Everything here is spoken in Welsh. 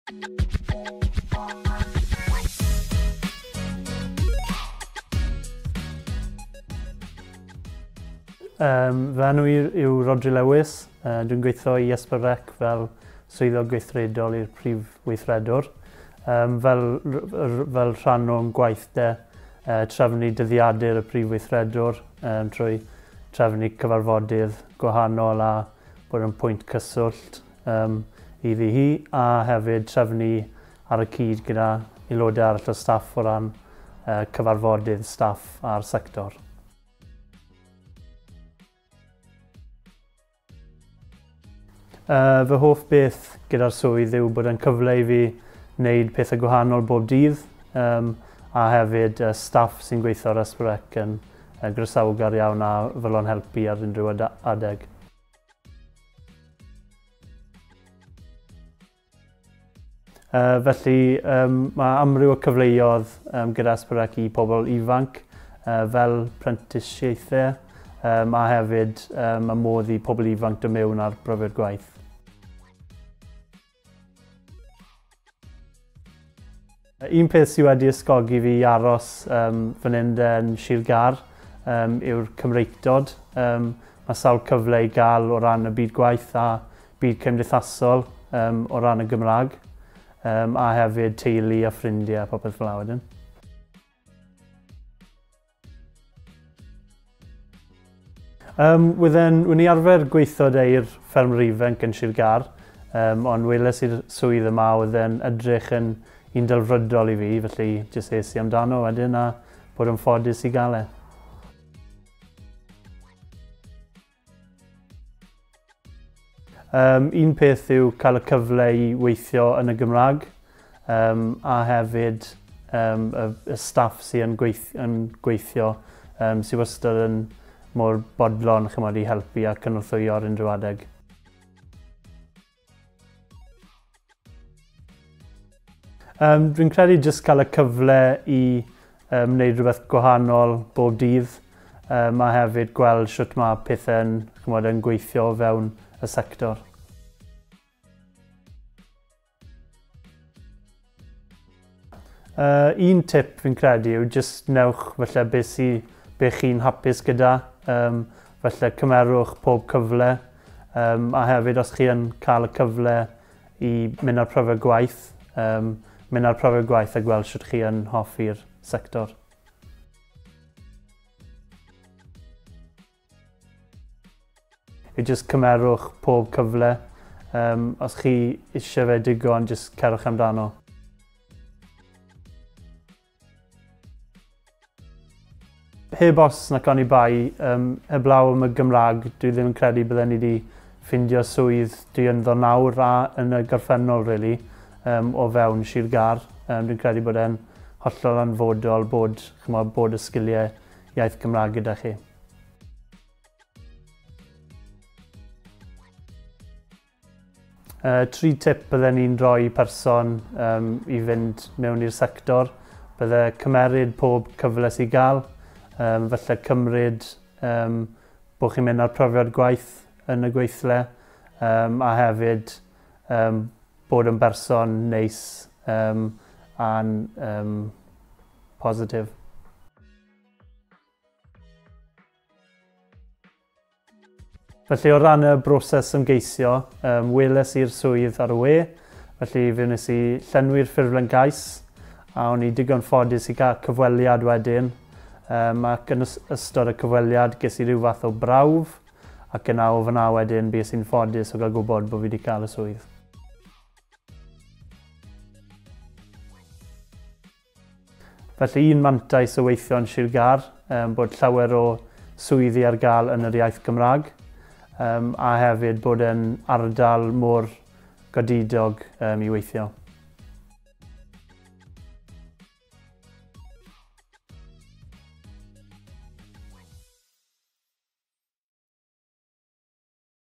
Fy enw i yw Rhodri Lewis. Dwi'n gweithio i S4C fel swyddog gweithredol i'r prif weithredwr. Fel rhan o'n gwaith de, trefnu dyddiadur y prif weithredwr trwy trefnu cyfarfodydd gwahanol a bod yn pwynt cyswllt iddi hi, a hefyd trefnu ar y cyd gyda aelodau arall o staff o ran cyfarfodydd staff a'r sector. Fy hoff beth gyda'r swydd yw bod yn cyfle i fi wneud pethau gwahanol bob dydd, a hefyd staff sy'n gweithio ar S4C yn groesawgar iawn a fodlon helpu ar unrhyw adeg. Felly mae amryw o cyfleoedd gyda S4C i pobl ifanc fel prentisiaethau, a hefyd y modd i pobl ifanc dod mewn ar brofiad gwaith. Un peth sydd wedi ysgogi fi i aros fan hyn yn Sir Gâr yw'r Cymreictod. Mae sawl cyfle i gael o ran y byd gwaith a byd cymdeithasol o ran y Gymraeg, a hefyd teulu a ffrindiau a popeth fel 'na wedyn. Wydden, wn i arfer gweithio 'da i'r ffermwr ifanc yn Sir Gâr, ond weles i'r swydd yma oedd yn edrych yn un delfrydol i fi, felly jyst es i amdano wedyn a bod yn ffodus i gael e. Un peth yw cael y cyfle i weithio yn y Gymraeg, a hefyd y staff sy'n yn gweithio sydd wastad yn mor bodlon, chymod, i helpu a cynorthwyo ar unrhyw adeg. Dwi'n credu jyst cael y cyfle i wneud rhywbeth gwahanol bob dydd, a hefyd gweld shwt mae pethau'n, chymod, yn gweithio o fewn y sector. Un tip fi'n credu yw jyst newch falle be chi'n hapus gyda, falle cymerwch pob cyfle, a hefyd os chi yn cael y cyfle i mynd ar profiad gwaith, mynd ar profiad gwaith a gweld shwt chi yn hoffi'r sector. Yw jyst cymerwch pob cyfle. Os chi eisiau fe digon, jyst cerwch amdano. Heb os nac oni bai, heblaw am y Gymraeg, dwi ddim yn credu bydden ni wedi ffindio swydd dwi ynddo nawr a yn y gorffennol, really, o fewn Sir Gâr. Dwi'n credu bod e'n hollol hanfodol bod, chymod, bod y sgiliau iaith Gymraeg gyda chi. Tri tip bydden ni'n rhoi person i fynd mewn i'r sector. Bydde cymeryd pob cyfle sy'n gael, falle cymryd bod chi'n mynd ar profiad gwaith yn y gweithle, a hefyd bod yn berson neis a'n positif. Felly o ran y broses ymgeisio, weles i'r swydd ar y we, felly fe wnes i llenwi'r ffurflen gais, a o'n i digon ffodus i gael cyfweliad wedyn, ac yn ystod y cyfweliad ges i ryw fath o brawf, ac yna o fyna wedyn bues i'n ffodus o gael gwybod bod fi wedi cael y swydd. Felly un mantais o weithio yn Sir Gâr, bod llawer o swyddi ar gael yn yr iaith Gymraeg, a hefyd bod yn ardal mor godidog i weithio.